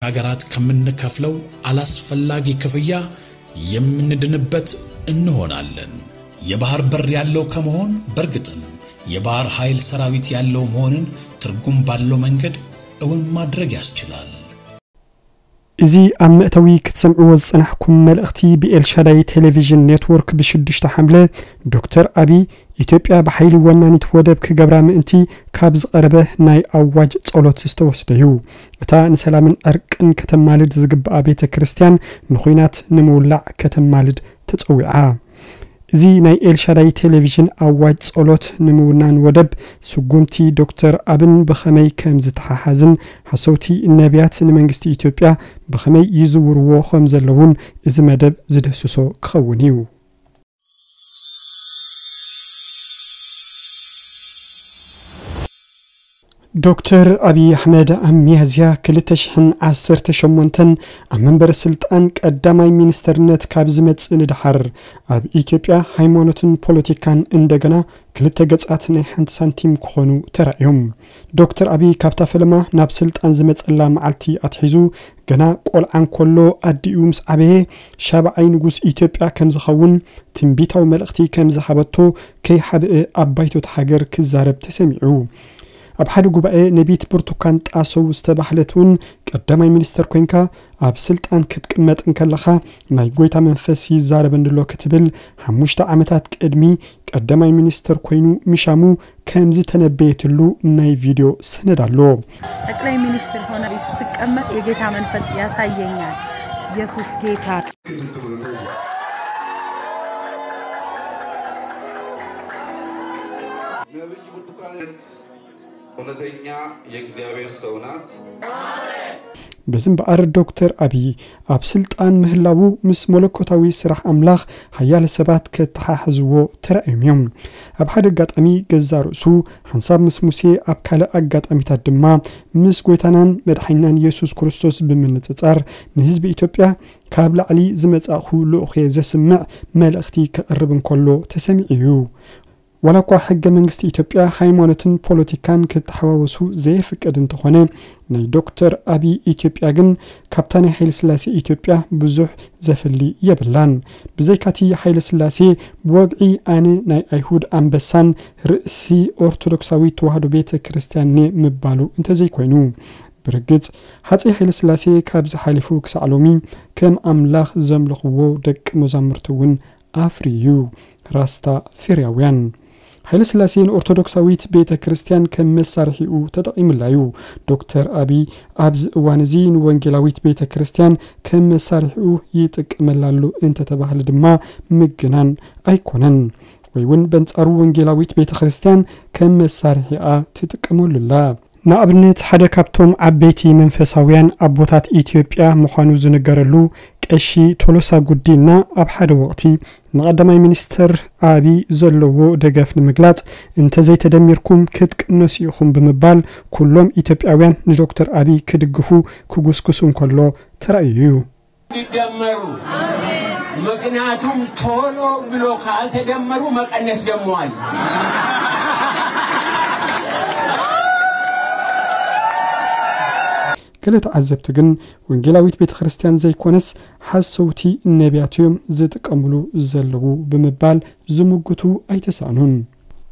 ሀገራት ከምንከፍለው አላስፈላጊ ክፍያ የምንድንበት እንሆናለን። የባህር በር ያለው ከመሆን በእርግጥም የባህር ኃይል ሰራዊት ያለው መሆንን ትርጉም ባለው መንገድ እውን ማድረግ ያስችላል። እዚ ኣብ መእተዊ ክትሰምዕዎ ዝጸናሕኩም መልእኽቲ ብኤልሻዳይ ቴሌቪዥን ኔትወርክ ብሽዱሽተ ሓምለ ዶክተር ኣቢ ኢትዮጵያ ብሓይሊ ወናኒት ወደብ ክገብራ ምእንቲ ካብ ዝቐረበ ናይ ኣዋጅ ጸሎት ዝተወስደ እዩ። እታ ንሰላምን ዕርቅን ከተማልድ ዝግብኣ ቤተ ክርስቲያን ንኹናት ንምውላዕ ከተማልድ ተጸዊዓ። እዚ ናይ ኤልሻዳይ ቴሌቪዥን ኣዋጅ ጸሎት ንምውናን ወደብ ስጉምቲ ዶክተር ኣብን ብኸመይ ከም ዝተሓሓዝን ሓሰውቲ ነቢያት ንመንግስቲ ኢትዮጵያ ብኸመይ ይዝውርዎ ከም ዘለውን እዚ መደብ ዝድህስሶ ክኸውን እዩ። ዶክተር ኣብይ ኣሕመድ ኣብ ሚያዝያ ክልተ ሽሕን ዓሰርተ ሸሞንተን ኣብ መንበረ ስልጣን ቀዳማይ ሚኒስተርነት ካብ ዝመጽእ ንደሓር ኣብ ኢትዮጵያ ሃይማኖትን ፖለቲካን እንደገና ክልተ ገጻት ናይ ሓንቲ ሳንቲም ክኾኑ ተራእዮም። ዶክተር ኣብይ ካብታ ፈለማ ናብ ስልጣን ዝመጸላ መዓልቲ ኣትሒዙ ገና ቆልዓ እንከሎ ኣዲኡ ምስ ዓበየ ሻብዓይ ንጉስ ኢትዮጵያ ከም ዝኸውን ትንቢታዊ መልእኽቲ ከም ዝሃበቶ ከይሓብአ ኣብ ባይቶት ሃገር ክዛረብ ተሰሚዑ። ኣብ ሓደ ጉባኤ ነቢት ብርቱካን ጣሰው ዝተባህለት እውን ቀዳማይ ሚኒስተር ኮይንካ ኣብ ስልጣን ክትቅመጥ እንከለኻ ናይ ጎይታ መንፈስ ይዛረበኒ ኣሎ ክትብል ሓሙሽተ ዓመታት ቅድሚ ቀዳማይ ሚኒስተር ኮይኑ ምሻሙ ከም ዝተነበየትሉ ናይ ቪድዮ ሰነድ ኣሎ። ጠቅላይ ሚኒስትር ሆነ ስትቀመጥ የጌታ መንፈስ ያሳየኛል። ኢየሱስ ጌታ። ነብይ ብርቱካን እውነተኛ የእግዚአብሔር ሰው ናት። በዚ እምበኣር ዶክተር ኣብይ ኣብ ስልጣን ምህላዉ ምስ መለኮታዊ ስራሕ ኣምላኽ ሓያለ ሰባት ከተሓሕዝዎ ተራእዮም እዮም። ኣብ ሓደ ኣጋጣሚ ገዛ ርእሱ ሓንሳብ ምስ ሙሴ ኣብ ካልእ ኣጋጣሚታት ድማ ምስ ጎይታናን መድሓኒናን የሱስ ክርስቶስ ብምንጽጻር ንህዝቢ ኢትዮጵያ ካብ ላዕሊ ዝመጻእኹ ልኡኽ እየ ዘስምዕ መልእኽቲ ከቕርብ እንከሎ ተሰሚዑ እዩ። ዋላ እኳ ሕገ መንግስቲ ኢትዮጵያ ሃይማኖትን ፖለቲካን ክተሓዋወሱ ዘየፍቅድ እንተኾነ ናይ ዶክተር ኣብይ ኢትዮጵያ ግን ካብታ ናይ ሃይለስላሴ ኢትዮጵያ ብዙሕ ዘፍሊ የብላን። ብዘይካቲ ሃይለስላሴ ብወግዒ ኣነ ናይ ኣይሁድ ኣንበሳን ርእሲ ኦርቶዶክሳዊት ተዋህዶ ቤተ ክርስቲያን እየ ምባሉ እንተዘይኮይኑ። ብርግጽ ሃፀይ ሃይለስላሴ ካብዚ ሓሊፉ ክሳዕ ሎሚ ከም ኣምላኽ ዘምልኽዎ ደቂ መዛሙርቱ እውን ኣፍርዩ እዩ። ራስታ ፌርያውያን። ሃይለስላሴ ንኦርቶዶክሳዊት ቤተ ክርስቲያን ከም መሳርሒኡ ተጠቒሙላ እዩ። ዶክተር ኣብይ ኣብዚ እዋን እዚ ንወንጌላዊት ቤተ ክርስቲያን ከም መሳርሒኡ ይጥቀመላ ኣሎ እንተተባህለ ድማ ምግናን ኣይኮነን። ወይ እውን በንጻሩ ወንጌላዊት ቤተ ክርስቲያን ከም መሳርሒኣ ትጥቀመሉ ኣላ። ንኣብነት ሓደ ካብቶም ዓበይቲ መንፈሳውያን ኣቦታት ኢትዮጵያ ምዃኑ ዝንገረሉ ቀሺ ቶሎሳ ጉዲና ኣብ ሓደ ወቕቲ ንቐዳማይ ሚኒስተር ኣብይ ዘለዎ ደገፍ ንምግላጽ እንተዘይተደሚርኩም ክትቅነሱ ኢኹም ብምባል ኩሎም ኢትዮጵያውያን ንዶክተር ኣብይ ክድግፉ ክጉስጉሱ እንከሎ ተራእዩ እዩ። ይደመሩ። ምክንያቱም ቶሎ ብሎ ካልተደመሩ መቀነስ ደሞ አለ። ገለ ተዓዘብቲ ግን ወንጌላዊት ቤተ ክርስቲያን ዘይኮነስ ሓሰውቲ ነቢያት እዮም ዝጥቀምሉ ዘለዉ ብምባል ዝምጉቱ ኣይተሳእኑን።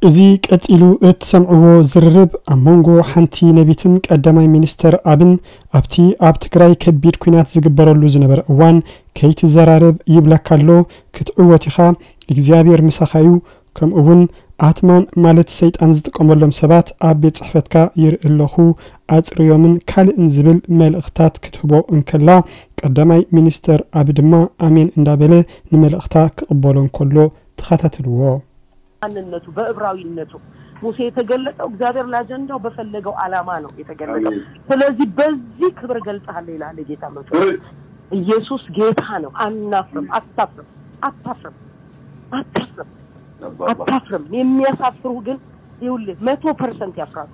እዚ ቀጺሉ እትሰምዕዎ ዝርርብ ኣብ መንጎ ሓንቲ ነቢትን ቀዳማይ ሚኒስተር ኣብን ኣብቲ ኣብ ትግራይ ከቢድ ኲናት ዝግበረሉ ዝነበረ እዋን ከይትዘራረብ ይብለካ ኣሎ፣ ክትዕወት ኢኻ፣ እግዚኣብሔር ምሳኻ እዩ፣ ከምኡ እውን ኣትማን ማለት ሰይጣን ዝጥቀመሎም ሰባት ኣብ ቤት ጽሕፈትካ ይርኢ ኣለኹ፣ ኣጽርዮምን ካልእን ዝብል መልእኽታት ክትህቦ እንከላ ቀዳማይ ሚኒስተር ኣቢ ድማ ኣሜን እንዳበለ ንመልእኽታ ክቕበሎ እንከሎ ተኸታተልዎ። ማንነቱ በዕብራዊነቱ ሙሴ የተገለጠው እግዚአብሔር ለአጀንዳው በፈለገው ዓላማ ነው የተገለጠው። ስለዚህ በዚህ ክብር እገልጽሃለሁ ይላል የጌታ መንፈስ። ኢየሱስ ጌታ ነው። አናፍርም። አታፍርም። አታፍርም። አታፍርም። አታፍርም። የሚያሳፍሩ ግን ይኸውልህ መቶ ፐርሰንት ያፍራሉ።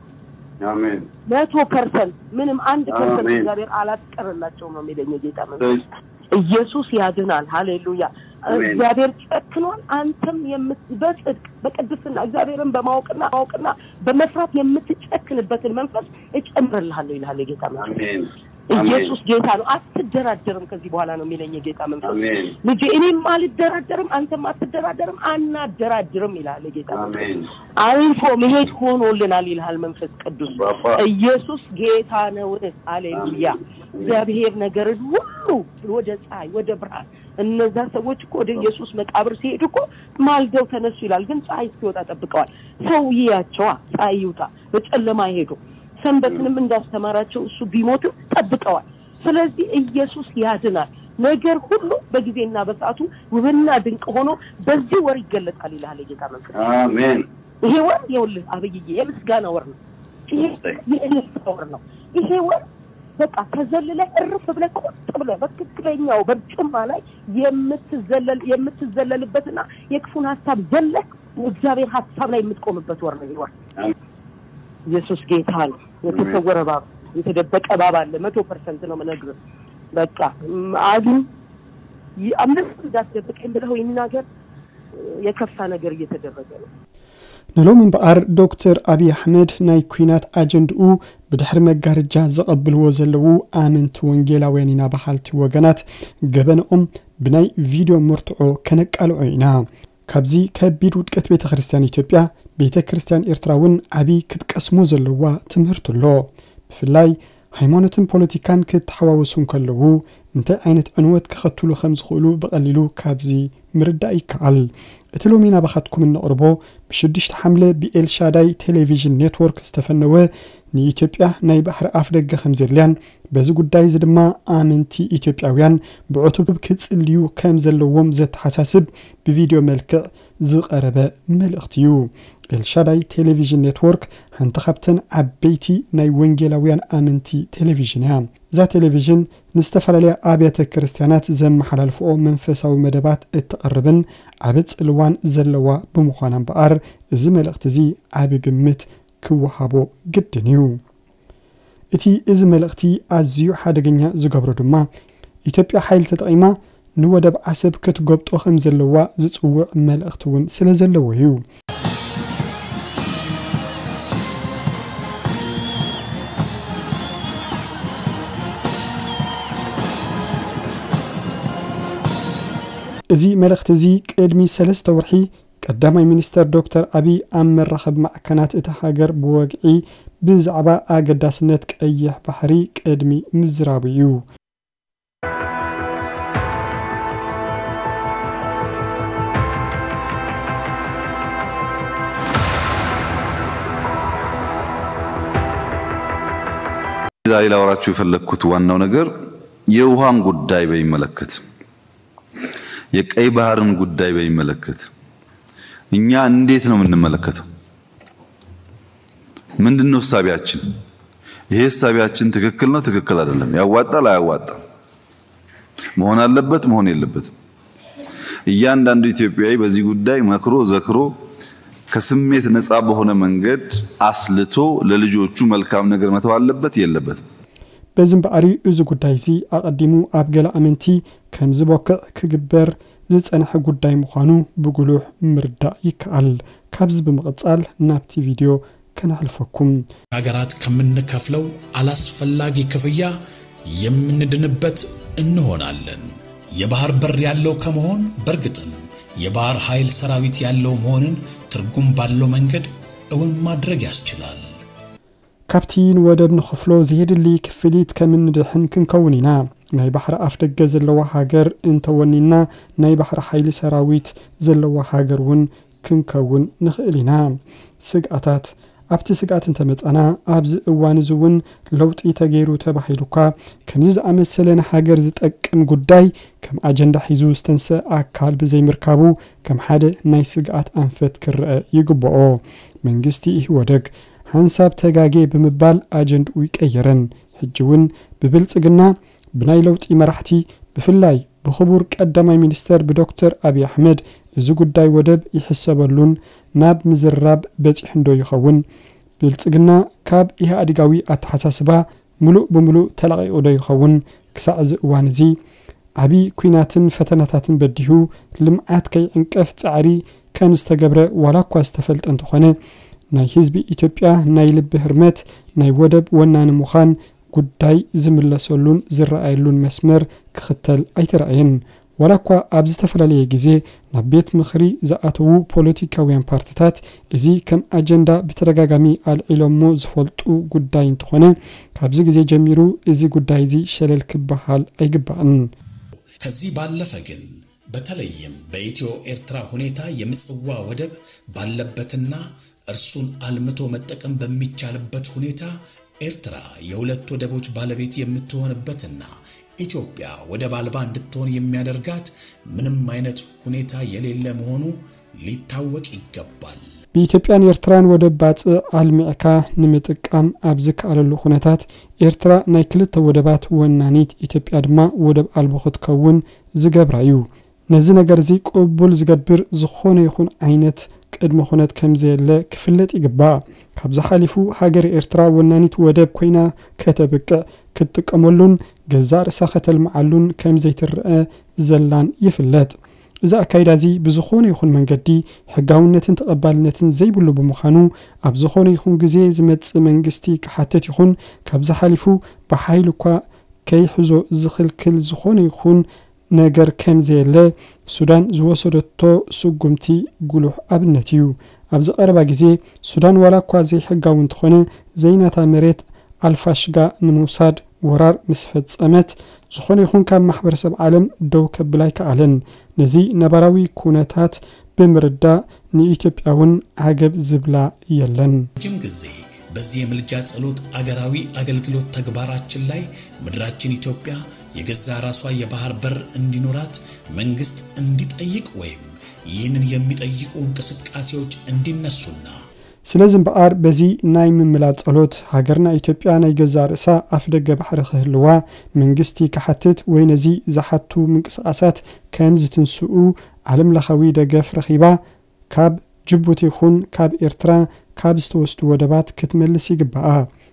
አሜን። መቶ ፐርሰንት ምንም አንድ ፐርሰንት አሜን። እግዚአብሔር አላስቀረላቸውም ነው የሚለኝ የጌታ መንፈስ። ኢየሱስ ያድናል። ሃሌሉያ። አሜን። እግዚአብሔር ጨክኗል። አንተም የምት- በጽድቅ በቅድስና እግዚአብሔርን በማወቅና ማወቅና በመፍራት የምትጨክንበትን መንፈስ እጨምርልሃለሁ ይልሃል የጌታ መንፈስ። አሜን። አሜን። ኢየሱስ ጌታ ነው። አትደራደርም ከዚህ በኋላ ነው የሚለኝ የጌታ መንፈስ። አሜን። ልጄ እኔም አልደራደርም፣ አንተም አትደራደርም፣ አናደራድርም ይላል የጌታ መንፈስ። አሜን። አልፎ መሄድ ሆኖልናል ይልሃል መንፈስ ቅዱስ። ባባ። ኢየሱስ ጌታ ነው። ሃሌሉያ። አሜን። እግዚአብሔር ነገርን ሁሉ ወደ ፀሐይ፣ ወደ ብርሃን። እነዛ ሰዎች እኮ ወደ ኢየሱስ መቃብር ሲሄዱ እኮ ማልደው ተነሱ ይላል፣ ግን ፀሐይ እስኪወጣ ጠብቀዋል። ሰው ይያቸዋ፣ ፀሐይ ይውጣ፣ በጨለማ ይሄዱ። ሰንበትንም እንዳስተማራቸው እሱ ቢሞትም ጠብቀዋል። ስለዚህ ኢየሱስ ያድናል። ነገር ሁሉ በጊዜና በሰዓቱ ውብና ድንቅ ሆኖ በዚህ ወር ይገለጣል ይልሃል የጌታ መንፈስ። አሜን። ይሄ ወር ይኸውልህ አብይዬ የምስጋና ወር ነው። ይሄ የእልልታ ወር ነው። ይሄ ወር በቃ ተዘልለ እርፍ ብለ ቁጭ ብለ በትክክለኛው በርጩማ ላይ የምትዘለል የምትዘለልበትና የክፉን ሀሳብ ዘለ እግዚአብሔር ሀሳብ ላይ የምትቆምበት ወር ነው ይሄ ወር። አሜን። ኢየሱስ ጌታ ነው። የተሰወረ ባብ፣ የተደበቀ ባብ አለ። መቶ ፐርሰንት ነው የምነግርህ። በቃ ም- አግኝ ይ- አምስት እንዳትደብቀኝ ብለው ይናገር። የከፋ ነገር እየተደረገ ነው። ንሎም እምበኣር ዶክተር ኣብይ ኣሕመድ ናይ ኲናት ኣጀንድኡ ብድሕሪ መጋረጃ ዘቐብልዎ ዘለዉ ኣመንቲ ወንጌላውያን ኢና በሃልቲ ወገናት ገበንኦም ብናይ ቪድዮ መርትዖ ከነቃልዖ ኢና። ካብዚ ከቢድ ውድቀት ቤተ ክርስቲያን ኢትዮጵያ፣ ቤተ ክርስቲያን ኤርትራ እውን ዓቢ ክትቀስሞ ዘለዋ ትምህርቲ ኣሎ። ብፍላይ ሃይማኖትን ፖለቲካን ክተሓዋወሱ እንከለዉ እንታይ ዓይነት ዕንወት ከኸትሉ ከም ዝኽእሉ ብቐሊሉ ካብዚ ምርዳእ ይከኣል። እቲ ሎሚ ናባኻትኩም እነቕርቦ ብሽዱሽተ ሓምለ ብኤልሻዳይ ቴሌቪዥን ኔትወርክ ዝተፈነወ ንኢትዮጵያ ናይ ባሕሪ ኣፍ ደገ ከም ዘድልያን በዚ ጉዳይ እዚ ድማ ኣመንቲ ኢትዮጵያውያን ብዕቱብ ክጽልዩ ከም ዘለዎም ዘተሓሳስብ ብቪድዮ መልክዕ ዝቐረበ መልእኽቲ እዩ። ኤልሻዳይ ቴሌቪዥን ኔትወርክ ሓንቲ ካብተን ዓበይቲ ናይ ወንጌላውያን ኣመንቲ ቴሌቪዥን እያ። እዛ ቴሌቪዥን ንዝተፈላለያ ኣብያተ ክርስቲያናት ዘመሓላልፍኦ መንፈሳዊ መደባት እተቕርብን ዓቢ ጽልዋን ዘለዋ ብምዃና እምበኣር እዚ መልእኽቲ እዚ ዓቢ ግምት ክወሃቦ ግድን እዩ። እቲ እዚ መልእኽቲ ኣዝዩ ሓደገኛ ዝገብሮ ድማ ኢትዮጵያ ሓይሊ ተጠቒማ ንወደብ ዓሰብ ክትጎብጦ ከም ዘለዋ ዝጽውዕ መልእኽቲ እውን ስለ ዘለዎ እዩ። እዚ መልእኽቲ እዚ ቅድሚ ሰለስተ ወርሒ ቀዳማይ ሚኒስተር ዶክተር ኣብይ ኣብ መራኸቢ ማዕከናት እታ ሃገር ብወግዒ ብዛዕባ ኣገዳስነት ቀይሕ ባሕሪ ቅድሚ ምዝራቡ እዩ። ዛሬ ላወራችሁ የፈለግኩት ዋናው ነገር የውሃን ጉዳይ በሚመለከት፣ የቀይ ባህርን ጉዳይ በሚመለከት እኛ እንዴት ነው የምንመለከተው? ምንድን ነው እሳቢያችን? ይሄ እሳቢያችን ትክክል ነው፣ ትክክል አይደለም፣ ያዋጣል፣ አያዋጣም፣ መሆን አለበት፣ መሆን የለበትም። እያንዳንዱ ኢትዮጵያዊ በዚህ ጉዳይ መክሮ ዘክሮ ከስሜት ነፃ በሆነ መንገድ አስልቶ ለልጆቹ መልካም ነገር መተው አለበት የለበትም? በዚ እምበኣር እዩ እዚ ጉዳይ እዚ ኣቐዲሙ ኣብ ገለ ኣመንቲ ከም ዝበኩዕ ክግበር ዝጸንሐ ጉዳይ ምዃኑ ብጉሉሕ ምርዳእ ይከኣል። ካብዚ ብምቕጻል ናብቲ ቪድዮ ከነሕልፈኩም። ሀገራት ከምንከፍለው አላስፈላጊ ክፍያ የምንድንበት እንሆናለን። የባህር በር ያለው ከመሆን በእርግጥም የባህር ኃይል ሰራዊት ያለው መሆንን ትርጉም ባለው መንገድ እውን ማድረግ ያስችላል። ካብቲ ንወደብ ንኽፍሎ ዘየድሊ ክፍሊት ከም እንድሕን ክንከውን ኢና። ናይ ባሕሪ ኣፍ ደገ ዘለዋ ሃገር እንተወኒና ናይ ባሕሪ ሓይሊ ሰራዊት ዘለዋ ሃገር እውን ክንከውን ንኽእል ኢና። ስግኣታት ኣብቲ ስግኣት እንተመጻና ኣብዚ እዋን እዚ እውን ለውጢ ተገይሩ ተባሂሉ እኳ ከምዚ ዝኣመሰለ ንሃገር ዝጠቅም ጉዳይ ከም ኣጀንዳ ሒዙ ዝተንሰ ኣካል ብዘይምርካቡ ከም ሓደ ናይ ስግኣት ኣንፈት ክረአ ይግብኦ። መንግስቲ ኢህወደግ ሓንሳብ ተጋጌ ብምባል ኣጀንድኡ ይቀየረን ሕጂ እውን ብብልጽግና ብናይ ለውጢ መራሕቲ ብፍላይ ብኽቡር ቀዳማይ ሚኒስተር ብዶክተር ኣብይ ኣሕመድ እዚ ጉዳይ ወደብ ይሕሰበሉን ናብ ምዝርራብ በጺሑ እንዶ ይኸውን? ብልጽግና ካብ ኢህኣዲጋዊ ኣተሓሳስባ ምሉእ ብምሉእ ተላቒቑ ዶ ይኸውን? ክሳዕ እዚ እዋን እዚ ዓቢ ኲናትን ፈተናታትን በዲሁ ልምዓት ከይዕንቀፍ ጻዕሪ ከም ዝተገብረ ዋላ እኳ ዝተፈልጠ እንተኾነ ናይ ህዝቢ ኢትዮጵያ ናይ ልቢ ህርመት ናይ ወደብ ወናኒ ምዃን ጉዳይ ዝምለሰሉን ዝረኣየሉን መስመር ክኽተል ኣይተራእየን። ዋላ እኳ ኣብ ዝተፈላለየ ግዜ ናብ ቤት ምኽሪ ዝኣተዉ ፖለቲካውያን ፓርትታት እዚ ከም ኣጀንዳ ብተደጋጋሚ ኣልዒሎሞ ዝፈልጡ ጉዳይ እንተኾነ፣ ካብዚ ግዜ ጀሚሩ እዚ ጉዳይ እዚ ሸለል ክበሃል ኣይግባእን። ከዚህ ባለፈ ግን በተለይም በኢትዮ ኤርትራ ሁኔታ የምጽዋ ወደብ ባለበትና እርሱን አልምቶ መጠቀም በሚቻልበት ሁኔታ ኤርትራ የሁለት ወደቦች ባለቤት የምትሆንበትና ኢትዮጵያ ወደብ አልባ እንድትሆን የሚያደርጋት ምንም አይነት ሁኔታ የሌለ መሆኑ ሊታወቅ ይገባል። ብኢትዮጵያን ኤርትራን ወደብ ባጽዕ ኣልሚዕካ ንምጥቃም ኣብ ዝከኣለሉ ኩነታት፣ ኤርትራ ናይ ክልተ ወደባት ወናኒት፣ ኢትዮጵያ ድማ ወደብ ኣልቦ ክትከውን ዝገብራ እዩ። ነዚ ነገር እዚ ቅቡል ዝገብር ዝኾነ ይኹን ዓይነት ቅድመ ኩነት ከም ዘየለ ክፍለጥ ይግባእ። ካብዚ ሓሊፉ፣ ሃገረ ኤርትራ ወናኒት ወደብ ኮይና ከተብቅዕ፣ ክትጥቀመሉን ገዛእ ርእሳ ከተልምዓሉን ከም ዘይትረአ ዘላን ይፍለጥ። እዚ ኣካይዳ እዚ ብዝኾነ ይኹን መንገዲ ሕጋውነትን ተቐባልነትን ዘይብሉ ብምዃኑ፣ ኣብ ዝኾነ ይኹን ግዜ ዝመጽእ መንግስቲ ክሓትት ይኹን ካብዚ ሓሊፉ ብሓይሊ እኳ ከይሕዞ ዝኽልክል ዝኾነ ይኹን ነገር ከም ዘየለ ሱዳን ዝወሰደቶ ስጉምቲ ጉሉሕ ኣብነት እዩ። ኣብዚ ቀረባ ግዜ ሱዳን ዋላ እኳ ዘይሕጋዊ እንተኾነ ዘይናታ መሬት ኣልፋሽጋ ንምውሳድ ወራር ምስ ፈጸመት፣ ዝኾነ ይኹን ካብ ማሕበረሰብ ዓለም ደው ከብል ኣይከኣለን። ነዚ ነባራዊ ኩነታት ብምርዳእ ንኢትዮጵያ እውን ዓገብ ዝብላ የለን። ረጅም ጊዜ በዚህ የምልጃ ጸሎት አገራዊ አገልግሎት ተግባራችን ላይ ምድራችን ኢትዮጵያ የገዛ ራሷ የባህር በር እንዲኖራት መንግስት እንዲጠይቅ ወይም ይህንን የሚጠይቁ እንቅስቃሴዎች እንዲነሱና ስለዚ እምበኣር በዚ ናይ ምምላድ ጸሎት ሃገርና ኢትዮጵያ ናይ ገዛእ ርእሳ ኣፍደገ ባሕሪ ክህልዋ መንግስቲ ክሓትት ወይ ነዚ ዝሓቱ ምንቅስቃሳት ከም ዝትንስኡ ዓለም ለኻዊ ደገፍ ረኺባ ካብ ጅቡቲ ይኹን ካብ ኤርትራ ካብ ዝተወስዱ ወደባት ክትመልስ ይግባኣ።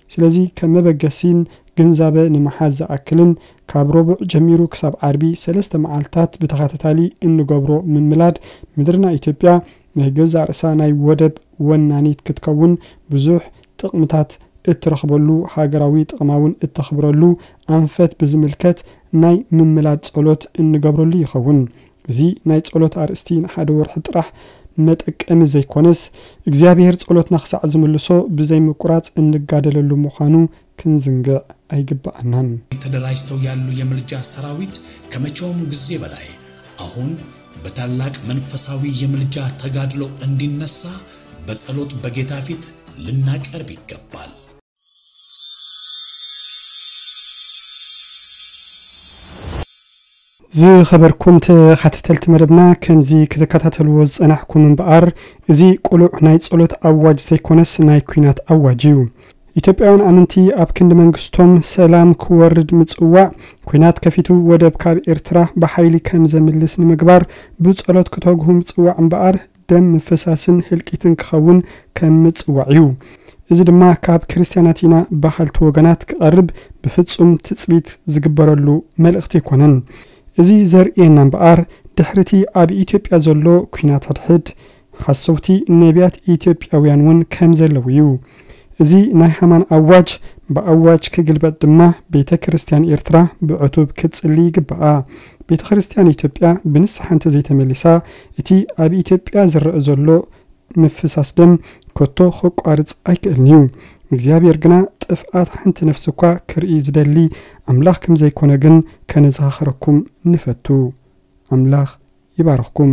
ስለዚ ከም መበገሲን ግንዛበ ንምሓዝ ዝኣክልን ካብ ረቡዕ ጀሚሩ ክሳብ ዓርቢ ሰለስተ መዓልታት ብተኸታታሊ እንገብሮ ምምላድ ምድርና ኢትዮጵያ ናይ ገዛእ ርእሳ ናይ ወደብ ወናኒት ክትከውን ብዙሕ ጥቕምታት እትረኽበሉ ሃገራዊ ጥቕማ እውን እተኽብረሉ ኣንፈት ብዝምልከት ናይ ምምላድ ጸሎት እንገብረሉ ይኸውን። እዚ ናይ ጸሎት ኣርእስቲ ንሓደ ወርሒ ጥራሕ መጠቀሚ ዘይኮነስ እግዚኣብሔር ጸሎትና ክሳዕ ዝምልሶ ብዘይ ምቁራጽ እንጋደለሉ ምዃኑ ክንዝንግዕ ኣይግባኣናን። ተደራጅተው ያሉ የምልጃ ሰራዊት ከመቼውም ጊዜ በላይ አሁን በታላቅ መንፈሳዊ የምልጃ ተጋድሎ እንዲነሳ በጸሎት በጌታ ፊት ልናቀርብ ይገባል። ዝኸበርኩም ተኸታተልቲ መደብና፣ ከምዚ ክትከታተልዎ ዝጸናሕኩም እምበኣር፣ እዚ ቅሉዕ ናይ ጸሎት ኣዋጅ ዘይኮነስ ናይ ኲናት ኣዋጅ እዩ። ኢትዮጵያውያን ኣመንቲ ኣብ ክንዲ መንግስቶም ሰላም ክወርድ ምጽዋዕ፣ ኲናት ከፊቱ ወደብ ካብ ኤርትራ ብሓይሊ ከም ዘምልስ ንምግባር ብጸሎት ክተግሁ ምጽዋዕ እምበኣር፣ ደም ምፍሳስን ህልቂትን ክኸውን ከም ምጽዋዕ እዩ። እዚ ድማ ካብ ክርስትያናት ኢና በሃልቲ ወገናት ክቐርብ ብፍጹም ትጽቢት ዝግበረሉ መልእኽቲ ኣይኮነን። እዚ ዘርእየና እምበኣር፣ ድሕሪቲ ኣብ ኢትዮጵያ ዘሎ ኲናት ሕድሕድ፣ ሓሰውቲ ነቢያት ኢትዮጵያውያን እውን ከም ዘለዉ እዩ። እዚ ናይ ሃማን ኣዋጅ ብኣዋጅ ክግልበጥ ድማ ቤተ ክርስትያን ኤርትራ ብዕቱብ ክትጽሊ ይግባኣ። ቤተ ክርስትያን ኢትዮጵያ ብንስሓ እንተዘይተመሊሳ፣ እቲ ኣብ ኢትዮጵያ ዝረአ ዘሎ ምፍሳስ ደም ከቶ ክቋርጽ ኣይክእልን እዩ። እግዚኣብሔር ግና ጥፍኣት ሓንቲ ነፍሲ እኳ ክርኢ ዝደሊ ኣምላኽ ከም ዘይኮነ ግን ከነዘኻኽረኩም ንፈቱ። ኣምላኽ ይባርኽኩም።